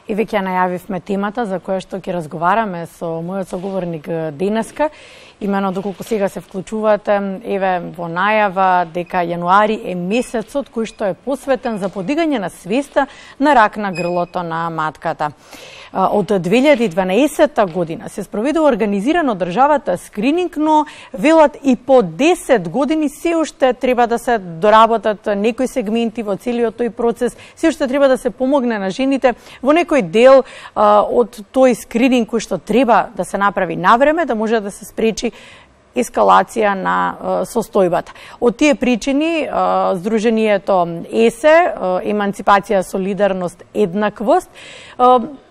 И веќе најавивме темата за која што ќе разговараме со мојот соговорник денеска. Имено доколку сега се вклучувате, еве во најава дека јануари е месецот кој што е посветен за подигање на свеста на рак на грлото на матката. Од 2012 година се спроведува организирано државата скрининг, но велат и по 10 години се уште треба да се доработат некои сегменти во целиот тој процес, се уште треба да се помогне на жените во некој дел од тој скрининг кој што треба да се направи навреме, да може да се спречи ескалација на состојбата. Од тие причини, Сдруженијето ЕСЕ, Еманципација, солидарност, еднаквост,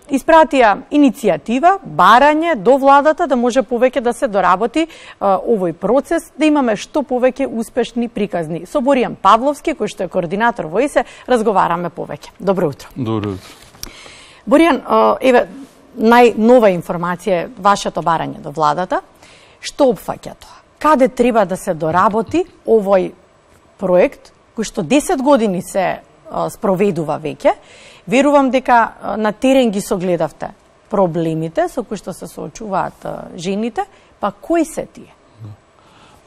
испратија иницијатива, барање до владата да може повеќе да се доработи овој процес, да имаме што повеќе успешни приказни. Со Боријан Павловски, кој што е координатор во ЕСЕ, разговараме повеќе. Добро утро. Добро утро. Боријан, еве, најнова информација е вашето барање до владата. Што опфаќа тоа? Каде треба да се доработи овој проект, кој што 10 години се спроведува веќе? Верувам дека на терен ги согледавте проблемите со кои што се соочуваат жените, па кои се тие?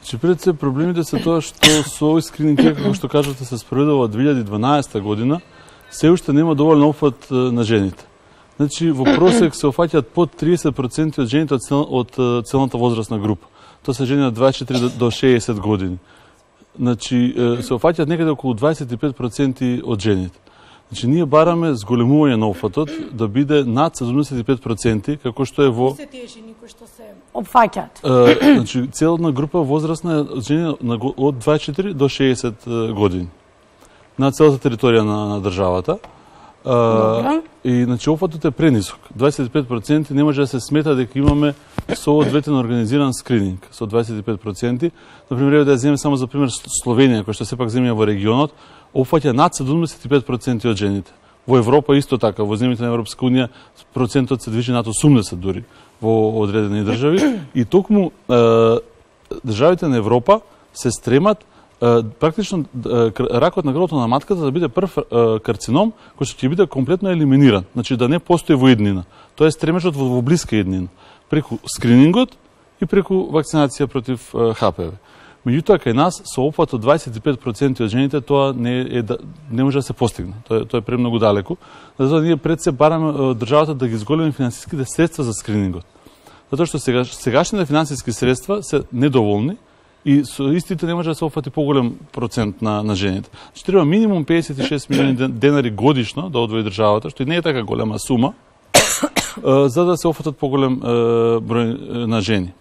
Значи, пред се проблемите се тоа што со овој скрининг, како што кажате, се спроведува од 2012 година, се уште нема доволен опфат на жените. Значи, во просек се офаќаат под 30% од жените од целната возрастна група. Тоа се жени од 24 до 60 години. Значи, се офаќаат некаде околу 25% од жените. Значи, ние бараме зголемување на опфатот да биде над 75%, како што е во... Се тие жени кои што се опфаќаат? Значи, целна група возрастна жени од 24 до 60 години. На целата територија на државата. И значи опфатот е пренисок. 25% не може да се смета дека имаме соодветен организиран скрининг со 25%. Например, да ја земеме само за пример Словенија, која што сепак земја во регионот, опфаќа над 75% од жените. Во Европа исто така, во земјите на Европска унија процентот се движи над 80 дури во одредени држави и токму државите на Европа се стремат практично ракот на грлото на матката да биде прв карцином кој што ќе биде комплетно елиминиран, значи да не постои во иднина. Тоа е стремежот во блиска иднина, преку скринингот и преку вакцинација против ХПВ. Меѓутоа кај нас со опфат од 25% од жените тоа не може да се постигне. Тоа е премногу далеку. Затоа ние пред се бараме државата да ги зголеми финансиските средства за скринингот. Затоа што сегашните финансиски средства се недоволни и со истите не може да се офати поголем процент на жените. Значи треба минимум 56 милиони денари годишно да одвои државата, што и не е така голема сума, за да се офатат поголем број на жени.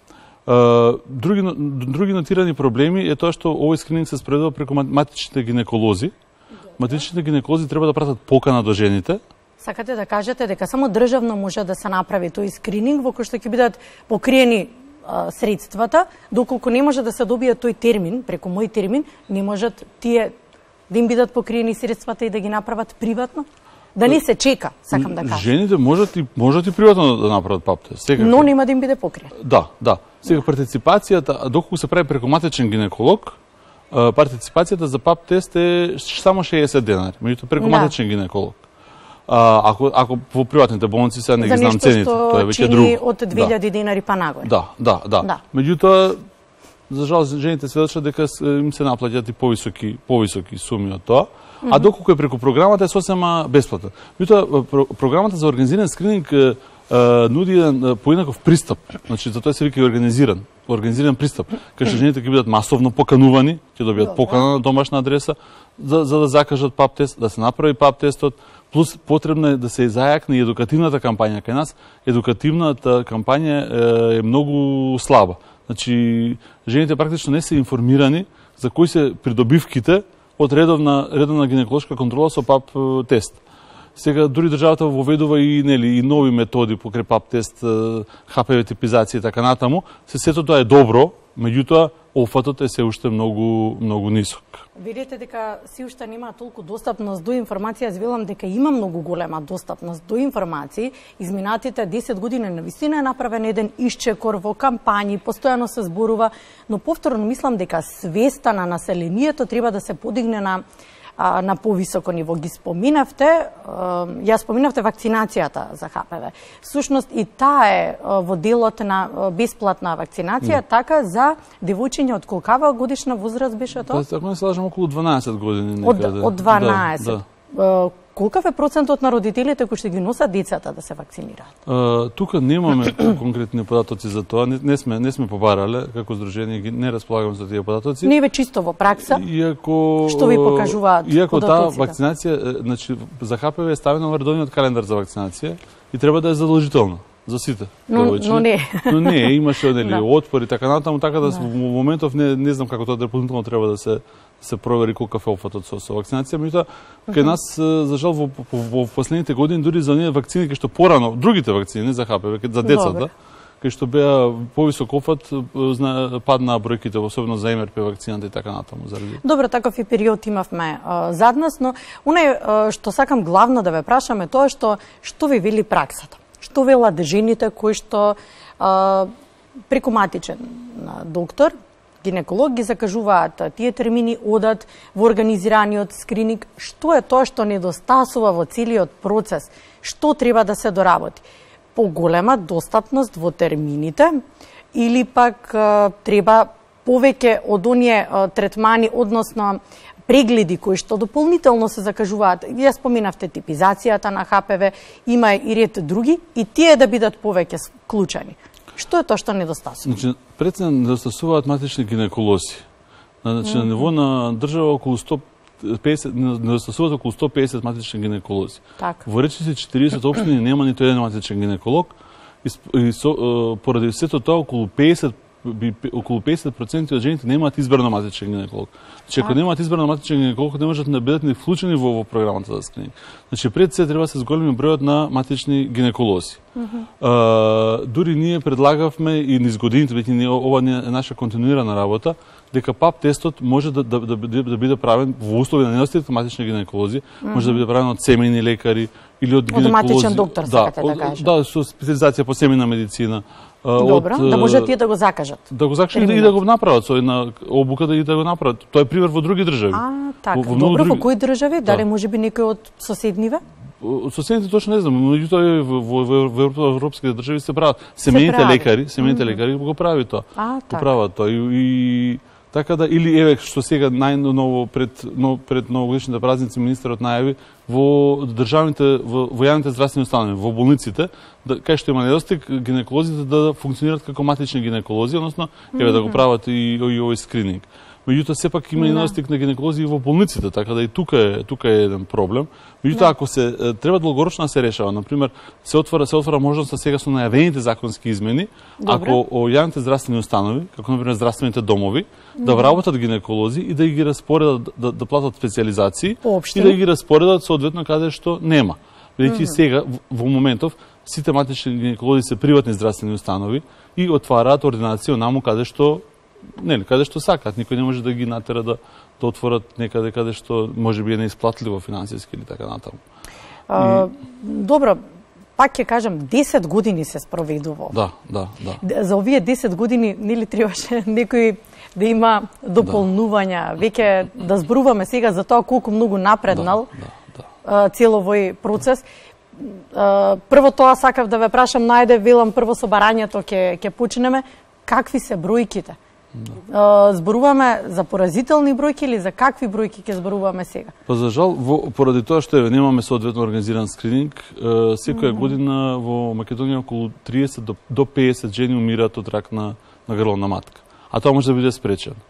Други нотирани проблеми е тоа што овој скрининг се спроведува преку матичните гинеколози. Матичните гинеколози треба да пратат покана до жените. Сакате да кажете дека само државно може да се направи тој скрининг во кој што ќе бидат покриени средствата, доколку не може да се добие тој термин, преку мој термин, не можат тие да им бидат покриени средствата и да ги направат приватно? Да не се чека, сакам да кажам. Жените можат и приватно да направат пап тест. Но нема да им биде покриен. Да. Сега партиципацијата, доколку се прави преку матичен гинеколог, партиципацијата за пап тест е само 60 денари, меѓутоа преку матичен гинеколог. Ако во приватните болници сега не ги знам цените, тоа е веќе друго. Од 2000 денари па нагоре. Да. Меѓутоа, за жал, жените сведочат дека им се наплаќаат и повисоки суми од тоа. А доколку е преку програмата е сосема бесплатна. Меѓутоа, програмата за организиран скрининг нуди еден поинаков пристап. Значи, за тоа се вика и организиран пристап, кај што жените ќе бидат масовно поканувани, ќе добијат покана на домашна адреса, за да закажат пап тест, да се направи пап тестот, плюс потребно е да се зајакне и едукативната кампања. Кај нас едукативната кампања е многу слаба. Значи, жените практично не се информирани за кои се придобивките од редовна гинеколошка контрола со пап тест. Сега дури државата воведува и нови методи покрај пап тест, ХПВ типизација и така натаму. Сето тоа е добро, меѓутоа опфатот е се уште многу нисок. Видите дека си уште нема толку достапност до информација, јас велам дека има многу голема достапност до информации. Изминатите 10 години навистина е направен еден исчекор во кампањи, постојано се зборува, но повторно мислам дека свеста на населението треба да се подигне на на повисоко ниво. Ги споминавте, ја споминавте вакцинацијата за ХПВ. Всушност и таа е во делот на бесплатна вакцинација, така за девојчиња од колкава годишна возраст беше тоа? Ако не се лажам, околу 12 години некаде. Од 12. Да. Колкав е процентот на родителите кои што ги носат децата да се вакцинираат? Тука немаме конкретни податоци за тоа, не сме побарале, како здружение не располагаме за тие податоци. Не е чисто во пракса. Иако што ви покажуваат податоците? Иако таа вакцинација, значи за ХПВ е ставена во редовниот календар за вакцинација и треба да е задолжителна за сите. Но не. Но не, имаше отпор и така натаму, така да во моментов не знам како тоа дополнително треба да се провери колкав е опфатот со вакцинација, меѓутоа кај нас за жал во последните години дури за оние вакцини кои што порано, другите вакцини за ХПВ за децата, кај што беа повисок опфат, паднаа бројките, особено за МРП вакцината и така натаму заради. Добро, таков и период имавме зад нас, но оне што сакам главно да ве прашаме тоа што ви вели праксата. Што велат жените кои што преку матичен доктор, гинеколог ги закажуваат тие термини, одат во организираниот скрининг, што е тоа што недостасува во целиот процес, што треба да се доработи? Поголема достапност во термините или пак треба повеќе од оние третмани, односно прегледи кои што дополнително се закажуваат. Ја споминавте типизацијата на ХПВ, има и ред други, и тие да бидат повеќе вклучени. Што е тоа што недостасува? Значи, пред се недостасуваат матични гинеколози. Значи, на ниво на држава околу 150, недостасуваат околу 150 матични гинеколози. Во речиси 40 општини нема ниту еден матичен гинеколог и поради сето тоа околу 50% од жените немаат избран матичен гинеколог. Значи, ако немаат избран матичен гинеколог, не можат да бидат ни вклучени во програмата за скрининг. Значи, пред се треба да се зголеми бројот на матични гинеколози. Дури ние предлагавме и низ годините, веќе ова е наша континуирана работа, дека ПАП тестот може да биде правен во услови на недостаток матични гинеколози, може да биде правен од семејни лекари или од гинеколози. Од матичен доктор, сакате да кажете. Да, со специализација по семејна медицина. Добро, да може тие да го закажат. Да го закажат и да го направат со една обука да го направат. Тоа е пример во други држави. Така. Добро, во кои држави? Дали може би некој од соседниве? Соседните точно не знам, меѓутоа во европските држави се прават. Семејните лекари го прави тоа. Го прават тоа и така да, или еве што сега најново пред новогодишните празници министерот најави во државните, во јавните здравствени установи, во болниците, кај што има недостиг, гинеколозите да функционираат како матични гинеколози, односно еве да го прават и овој скрининг. Меѓутоа сепак има и недостиг на гинеколози и во болниците, така да и тука е еден проблем. Меѓутоа ако се треба долгорочно да се решава, на пример, се отвора можност сега со најавените законски измени, ако јавните здравствени установи, како на пример здравствените домови, да вработат гинеколози и да ги распоредат да платат специализации и да ги распоредат соодветно каде што нема. Бидејќи сега во моментов сите матични гинеколози се приватни здравствени установи и отвараат ординација онаму каде што сакаат, никој не може да ги натера да отворат некаде каде што може би е неисплатливо финансиски или така натаму. Добро, пак ќе кажам, 10 години се спроведува. Да. За овие 10 години нели требаше некој да има дополнувања, веќе да зборуваме сега за тоа колку многу напреднал цело овој процес. Прво тоа сакав да ве прашам, најде велам прво со барањето ќе почнеме, какви се бројките? Зборуваме за поразителни бројки или за какви бројки ќе зборуваме сега? Па за жал, поради тоа што немаме соодветно организиран скрининг, секоја година во Македонија околу 30 до 50 жени умираат од рак на грловна матка. А тоа може да биде спречено.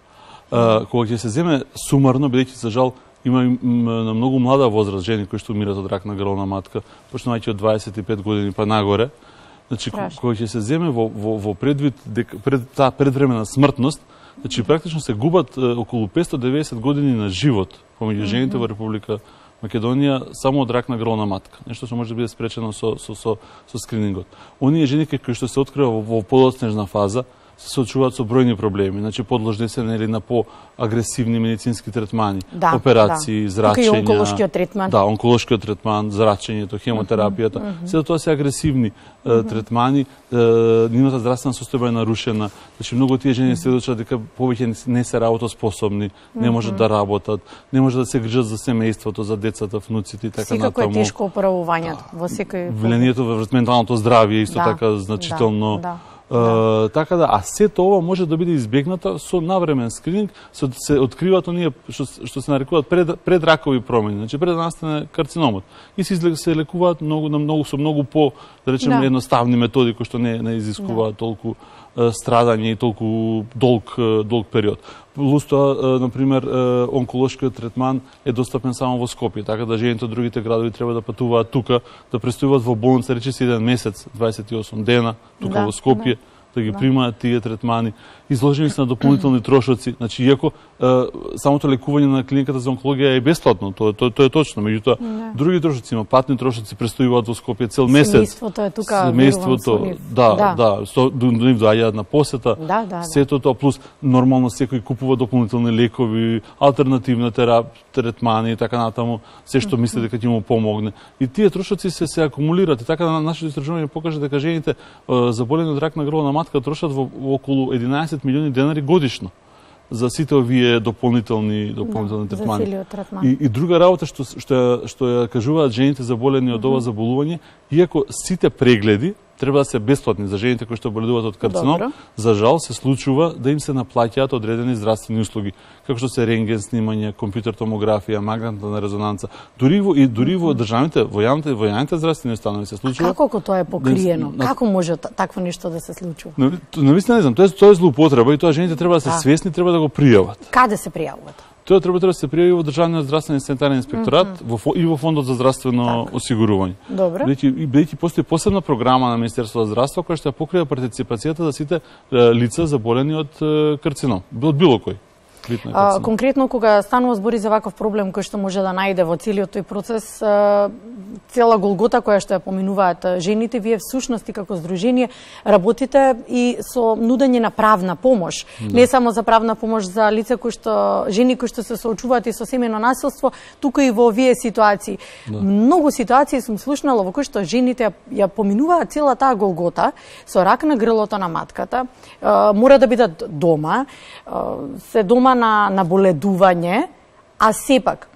Кога ќе се земе сумарно, бидејќи за жал има на многу млада возраст жени кои што умираат од рак на грловна матка, почнувајќи од 25 години па нагоре. Значи, кога ќе се земе во предвид пред таа предвремена смртност, значи практично се губат околу 590 години на живот помеѓу жените во Република Македонија само од рак на грловна матка. Нешто што може да биде спречено со скринингот. Оние жени кои што се открива во подоцнежна фаза, се соочуваат со бројни проблеми, значи подложни се нели на поагресивни медицински третмани, операции, зрачења. Тука и онколошкиот третман. Да, онколошкиот третман, зрачењето, хемотерапијата, се тоа се агресивни третмани, нивната здравствена состојба е нарушена. Значи многу тие жени сведочат дека повеќе не се работоспособни, не можат да работат, не можат да се грижат за семејството, за децата, внуците и така натаму. Секако е тешко оправувањето во секој влијанието врз менталното здравје исто така значително. Така да, а сето ова може да биде избегнато со навремен скрининг, се откриваат оние што се нарекуваат предракови промени, значи пред да настане карциномот. И се лекуваат со многу по, да речеме, едноставни методи кои што не изискуваат толку страдање и толку долг период. Плюс тоа, например, онколошкиот третман е достапен само во Скопје, така да жените од другите градови треба да патуваат тука, да престојуваат во болница, речиси 1 месец, 28 дена, тука во Скопје, да ги примаат тие третмани. Изложени се на дополнителни трошоци, значи иако самото лекување на клиниката за онкологија е бесплатно, тоа е точно, меѓутоа други трошоци има, патни трошоци престојуваат во Скопје цел месец. Семејството е тука, семејството, до нив доаѓаат на посета. Сето тоа плюс нормално секој купува дополнителни лекови, алтернативна третмани и така натаму, се што мисли дека ќе му помогне. И тие трошоци се акумулираат, и така нашето истражување покажа дека жените заболени од рак на грло на матка трошат во околу 11 милиони денари годишно за сите овие дополнителни третмани. И друга работа што ја кажуваат жените заболени од ова заболување, иако сите прегледи треба да се бесплатни за жените кои што боледуваат од карцином, за жал се случува да им се наплаќаат одредени здравствени услуги, како што се рентген снимање, компјутер томографија, магнетна резонанца. Дури во државните, во јавните здравствени установи се случува. Како тоа е покриено? Како може такво нешто да се случува? Навистина не знам, тоа е злоупотреба и тоа жените треба да се свесни, треба да го пријават. Каде се пријавуваат? Тоа треба да се пријави во Државниот здравствен и санитарен инспекторат и во Фондот за здравствено осигурување. Бидејќи постои посебна програма на Министерството за здравство која што ја покрива партиципацијата за сите лица заболени од карцином, од било кој. Конкретно, кога станува збори за ваков проблем кој што може да најде во целиот тој процес, цела голгота која што ја поминуваат жените, вие всушност и како здружение работите и со нудење на правна помош. Не само за правна помош за лица жени кои што се соочуваат и со семејно насилство, туку и во овие ситуации. Многу ситуации сум слушнала во кои што жените ја поминуваат цела таа голгота со рак на грлото на матката, мора да бидат дома, се дома на наболедување, а сепак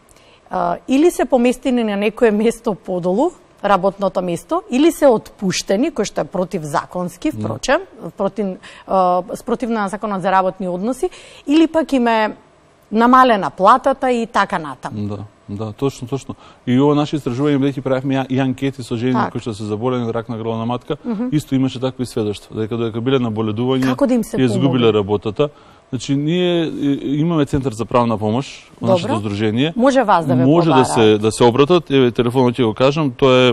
или се поместени на некое место подолу, работното место, или се отпуштени, кој што е противзаконски, впрочем, спротивно на законот за работни односи, или пак им е намалена платата и така натаму. Да, точно. И ова наше истражување, бидејќи правевме и анкети со жени кои што се заболени од рак на грло на матка, исто имаше такви сведоштва, дека биле на боледување и изгубиле работата. Значи, ние имаме Центар за правна помош во нашето здружение. Може вас да ве побара. Може да се обратат, еве телефонот ќе го кажам, тоа е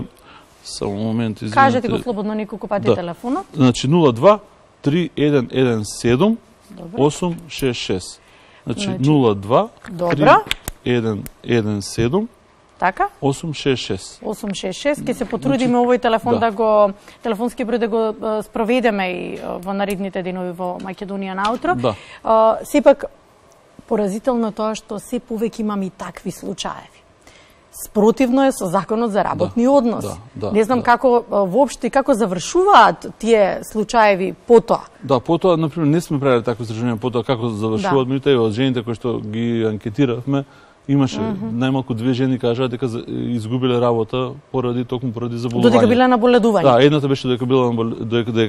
само момент, извинете. Кажете го слободно неколку пати телефонот. Значи 02 3117 866. Значи 02 3117 Така? 866. 866. Ке се потрудиме овој телефон телефонски број да го спроведеме и во наредните денови во Македонија наутро. Сепак, поразително тоа што се повеќе имаме и такви случаеви. Спротивно е со законот за работни односи. Не знам како воопшто и како завршуваат тие случаеви потоа. Потоа, например, не сме правили такво истражување потоа како завршуваат, меѓутоа од жените кои што ги анкетиравме, имаше најмалку 2 жени кажаа дека изгубиле работа поради заболување. Додека биле на боледување. Едната беше дека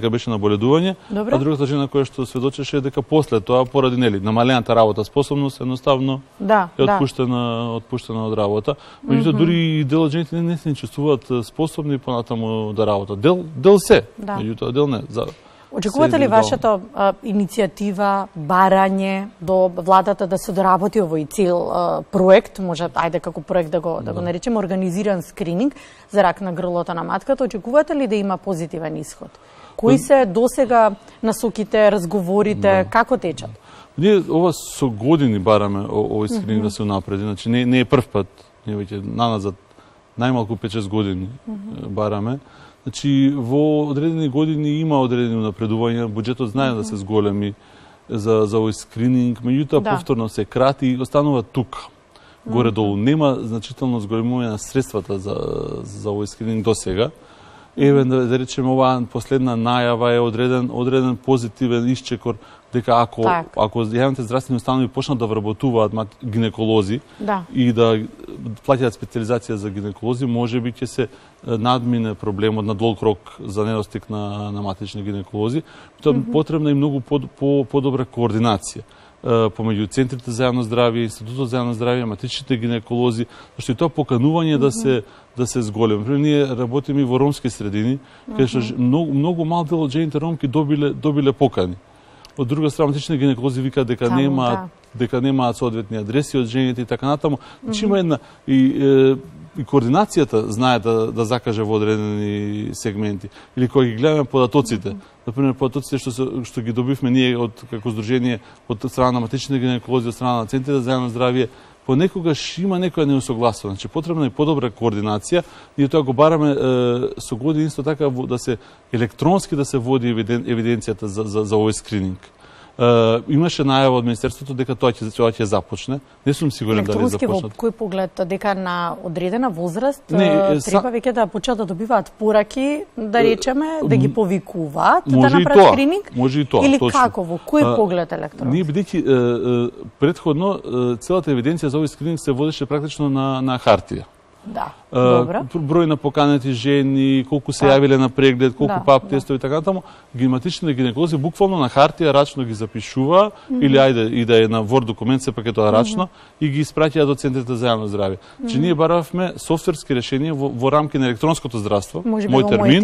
беше на боледување, а другата жена која што сведочеше дека после тоа поради намалената работа способност едноставно е отпуштена од работа. Меѓутоа дури и дел од жените не се чувствуваат способни понатаму да работат. Дел се, меѓутоа дел не. Очекувате ли вашата иницијатива, барање до владата да се доработи овој цел проект, може како проект да го наречеме, организиран скрининг за рак на грлото на матката, очекувате ли да има позитивен исход? Кои се досега насоките, разговорите, како течат? Ние ова со години бараме овој скрининг да се унапреди, значи не е прв пат, ние веќе наназад најмалку 5-6 години бараме. Значи, во одредени години има одредени напредувања, буџетот знае да се зголеми за овој скрининг, меѓутоа повторно се крати и останува тука. Горе-долу нема значително зголемување на средствата за овој скрининг до сега. Еве да речеме оваа последна најава е одреден позитивен исчекор дека ако јавните здравствени установи почнат да вработуваат гинеколози и да плаќаат специализација за гинеколози, можеби ќе се надмине проблемот на долг рок за недостиг на матични гинеколози. Тоа потребна и многу подобра координација помеѓу центрите за јавно здравје, Институтот за јавно здравје, матичните гинеколози, зашто и тоа поканување да се зголеми. Пример, ние работиме и во ромски средини, каде што многу мал дел од жените ромки добиле покани. Од друга страна, матичните гинеколози викаат дека немаат соодветни адреси од жените и така натаму. Значи има една и координацијата знае да закаже во одредени сегменти. Или кога ги гледаме податоците, например податоците што ги добивме ние како здружение од страна на матичните гинеколози, од страна на центрите за јавно здравје, понекогаш има некоја неусогласување. Значи потребна е подобра координација. Ние тоа го бараме со години исто така да се електронски да се води евиденцијата за овој скрининг. Имаше најава од Министерството дека тоа ќе започне. Не сум сигурен дали започнат. Електронски во кој поглед дека на одредена возраст треба веќе да почнат да добиваат пораки, да речеме, да ги повикуваат, да направат скрининг? Може и тоа, или како, во кој поглед електронски? Ние бидејќи претходно целата евиденција за овој скрининг се водеше практично на хартија. Да, добро. Број на поканети жени, колку се јавиле на преглед, колку пап тестови и така натаму, матичните гинеколози буквално на хартија рачно ги запишува или ајде и да е на Word документ, сепак е тоа рачно и ги испраќаат до центрите за јавно здравје. Че ние баравме софтверски решенија во рамки на електронското здравство, мој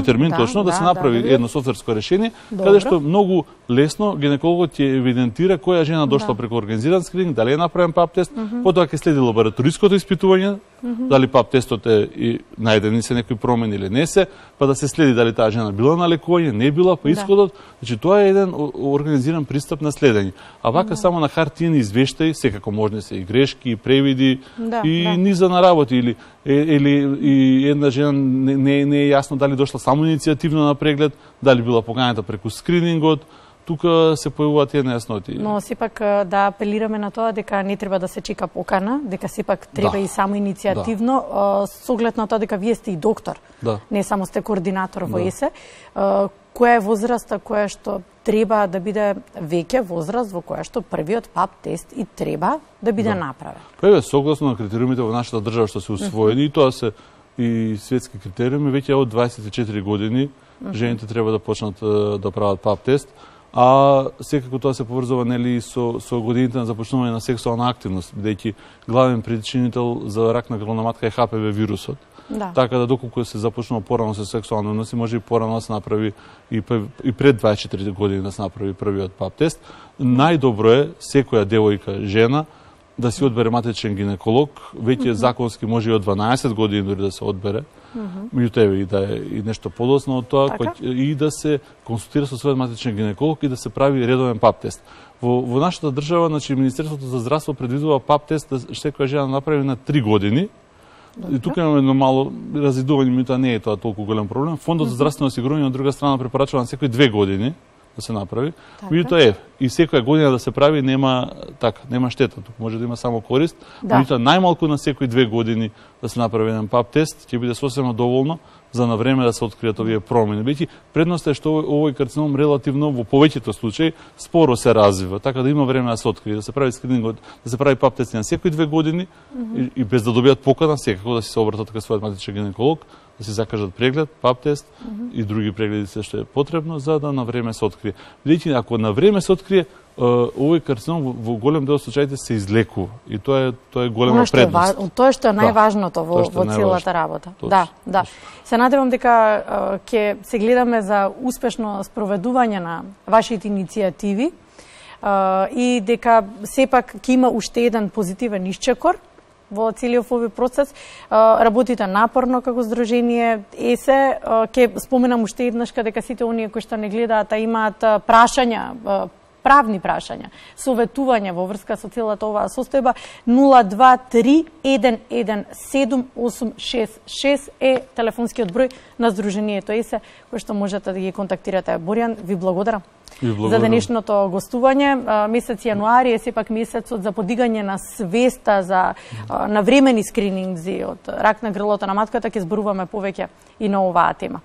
термин точно да се направи едно софтверско решение, каде што многу лесно гинекологот ќе евидентира која жена дошла преку организиран скрининг, дали е направен пап тест, потоа ќе следи лабораториското испитување, дали пап тестот е најдени се некои промени или не се, па да се следи дали таа жена била на лекување, не била, па исходот. Значи тоа е еден организиран пристап на следење. А вака само на хартиени извештаи, секако можни се и грешки, и превиди, и низа на работи, или една жена не е јасно дали дошла само иницијативно на преглед, дали била поканата преку скринингот, тука се појавуваат тие нејасноти. Но сепак да апелираме на тоа дека не треба да се чека покана, дека сепак треба и само иницијативно, со оглед на тоа дека вие сте и доктор, не само сте координатор во ЕСЕ. Која е возраста која што треба да биде веќе возраст во која што првиот пап тест и треба да биде направен? Па согласно на критериумите во нашата држава што се усвоени, и тоа се и светски критериуми, веќе од 24 години жените треба да почнат да прават пап тест. А секако тоа се поврзува нели со годините на започнување на сексуална активност, бидејќи главен причинител за рак на грлна матка е ХПВ вирусот. Така да доколку се започнува порано со сексуални односи, може и порано да се направи и пред 24 години да се направи првиот пап тест. Најдобро е секоја девојка, жена да си одбере матичен гинеколог, веќе законски може и од 12 години дори да се одбере. Меѓутоа и да е и нешто подоцна од тоа, и да се консултира со својот матичен гинеколог и да се прави редовен пап тест. Во нашата држава, значи Министерството за здравство предвидува пап тест да секоја жена направи на 3 години. И тука имаме едно мало разидување, меѓутоа не е тоа толку голем проблем. Фондот за здравствено осигурување од друга страна препорачува на секои 2 години да се направи. Меѓутоа и секоја година да се прави нема штета, тука може да има само корист. Меѓутоа најмалку на секои 2 години да се направи еден пап тест ќе биде сосема доволно за на време да се откријат овие промени. Бидејќи предноста е што овој карцином релативно во повеќето случаи споро се развива, така да има време да се открие, да се прави скринингот, да се прави пап тест на секои 2 години и без да добијат покана, секако да се обратат кај својот матичен гинеколог, да се закажат преглед, пап тест и други прегледи се што е потребно за да на време се открие. Бидејќи ако на време се открие, овој карцином во голем дел од случаите се излекува и тоа е голема предност. Тоа што е најважното во целата работа. Да. Се надевам дека ќе се гледаме за успешно спроведување на вашите иницијативи и дека сепак ќе има уште еден позитивен исчекор во целиот овој процес. Работите напорно како здружение ЕСЕ. Ќе споменам уште еднаш дека сите оние кои што не гледаат, имаат прашања правни прашања, советување во врска со целата оваа состојба, 023-117-866 е телефонскиот број на Сдруженијето ЕСЕ, кој што можете да ги контактирате. Боријан, ви благодарам за денешното гостување. Месец јануари е сепак месецот за подигање на свеста за навремени скрининзи од рак на грлото на матката. Ќе зборуваме повеќе и на оваа тема.